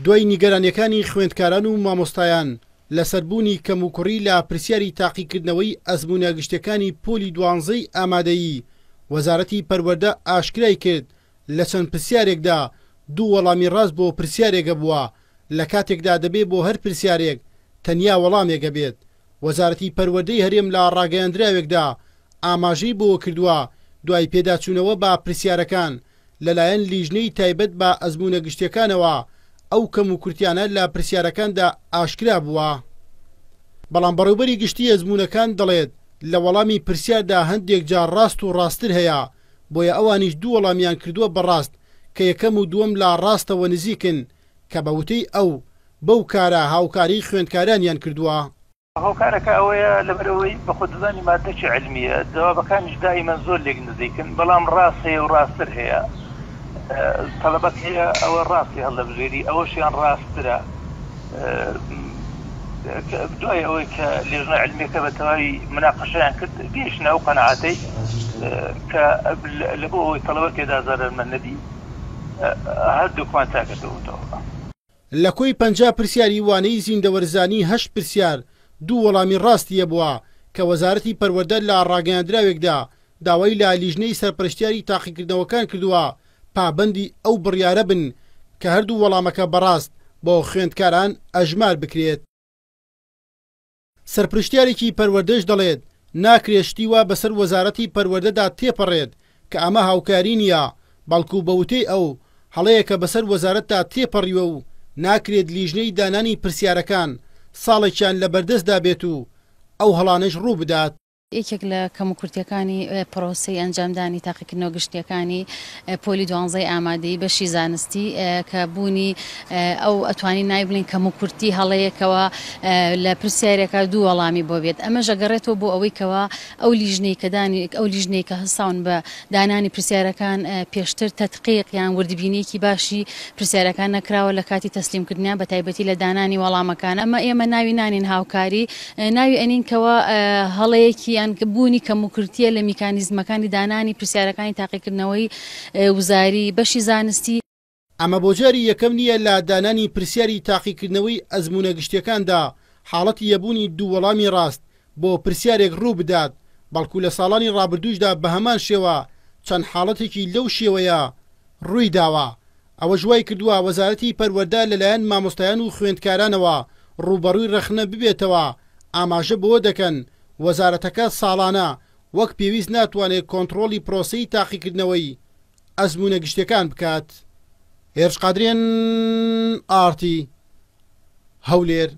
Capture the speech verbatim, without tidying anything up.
دوای نیگەرانیەکانی خوێندکاران و مامۆستایان لەسەر بوونی کەموکوڕی لە پرسیاری تاقیکردنەوەی ئەزموونە گشتیەکانی پۆلی دوانزەی ئامادەیی، وەزارەتی پەروەردە ئاشکرای کرد لە چەند پرسیارێکدا دوو وەڵامی ڕاست بۆ پرسیارێکە بووە، لە کاتێکدا دەبێ بۆ هەر پرسیارێک تەنیا وەڵامێکە بێت. وەزارەتی پەروەردەی هەرێم لە ڕاگەیاندراوێکدا ئاماژەی بۆ کردووە دوای پێداچوونەوە بە پرسیارەکان لەلایەن لیژنەی تایبەت بە ئەزموونە گشتیەکانەوە ئەو کەم و کورتیانە لە پرسیارەکاندا ئاشکرا بووە. بەڵام بەڕێوبەری گشتی ئەزموونەکان دەڵێت لە وەڵامی پرسیاردا هەندێک جار ڕاست و ڕاستتر هەیە، بۆیە ئەوانیش دوو وەڵامیان کردووە بەڕاست کە یەکەم و دووەم لە ڕاستەوە نزیکن کە بە وتەی ئەو بەو کارە هاوکاری خوێندکارانیان کردووە. هۆکارەکە ئەوەیە لەبەرەوەی بە خۆدەزانی مادەکی علمیە، جوابەکانیش دائیمەن زۆر لێک نزیکن، بەڵام ڕاست هەیە و ڕاستتر هەیە. تەلەبەت هەیە ئەوە ڕاستی هەڵدەبژێری، ئەوەشیان ڕاستترە. دوای ئەوەی کە لێژنە علمیەکە بە تەواوی مناقەشەیان کرد گەیشتنە ئەو قەناعەتەی کە لە بۆ ئەوەی تەلەبە تێدا زەرەرمەند نەبی هەردووکمان چاکردەوەتەوە. لە کۆی پەنجا پرسیاری وانەی زیندەوەرزانی هەشت پرسیار دوو وەڵامی ڕاستیە بووە کە وەزارەتی پەروەردە لە ڕاگەیاندراوێکدا داوای لە لیژنەی سەرپەرشتیاری تاقیکردنەوەکان کردووە پابەندی ئەو بڕیارە بن کە هەردوو وەڵامەکە بەڕاست بۆ خوێندکاران ئەژمار بکرێت. سەرپەرشتیارێکی پەروەردەش دەڵێت ناکرێت شتی وا بەسەر وەزارەتی پەروەردەدا تێپەڕێت کە ئەمە هاوکاری نییە، بەڵکو بە وتەی ئەو هەڵەیەکە بەسەر وەزارەتدا تێپەڕیوە و ناکرێت لیژنەی دانانی پرسیارەکان ساڵێکیان لە بەردەستدا بێت و ئەو هەڵانەش ڕوو بدات. یەکێک لە کەموکورتیەکانی پرۆسەی ئەنجامدانی تاقیکردنەوە گشتیەکانی پۆلی دوانزەی ئامادەیی بەشی زانستی کە بوونی ئەو ئەتوانی ناوی بڵێن کەموکورتی هەڵەیەکەوە لە پرسیارێکە دوو وەڵامی بۆ بێت. ئەمەش ئەگەڕێتەوە بۆ ئەوەی کەوا ئەو لیژنەی کە دانی ئەو لیژنەی کە هەستاون بە دانانی پرسیارەکان پێشتر تەدقیق یان وردبینیەکی باشی پرسیارەکان نەکراوە لە کاتی تەسلیمکردنیان، بە تایبەتی لە دانانی وەڵامەکان. ئەمە ئێمە ناوی نانین هاوکاری، ناوی ئەنین کەوا هەڵەیەکی یان بوونی کەموکورتیە لە میکانیزمەکانی دانانی پرسیارەکانی تاقیکردنەوەی وزاری بەشی زانستی. ئەمە بۆ جاری یەکەم نییە لە دانانی پرسیاری تاقیکردنەوەی ئەزموونە گشتیەکاندا حاڵەتی یەبوونی دوو وەڵامی ڕاست بۆ پرسیارێک ڕوو بدات، بەڵکو لە ساڵانی ڕابردووشدا بە هەمان شێوە چەند حاڵەتێکی لەو شێوەیە ڕووی داوە. ئەوەش وای کردووە وەزارەتی پەروەردە لەلایەن مامۆستایان و خوێندکارانەوە ڕووبەڕووی ڕەخنە ببێتەوە. ئاماژە بەوە دەکەن وەزارەتەکە ساڵانە وەک پێویست ناتوانێت کۆنترۆڵی پرۆسەی تاقیکردنەوەی ئەزموونە گشتیەکان بکات. هێرش قادرێن، ئارتی، هەولێر.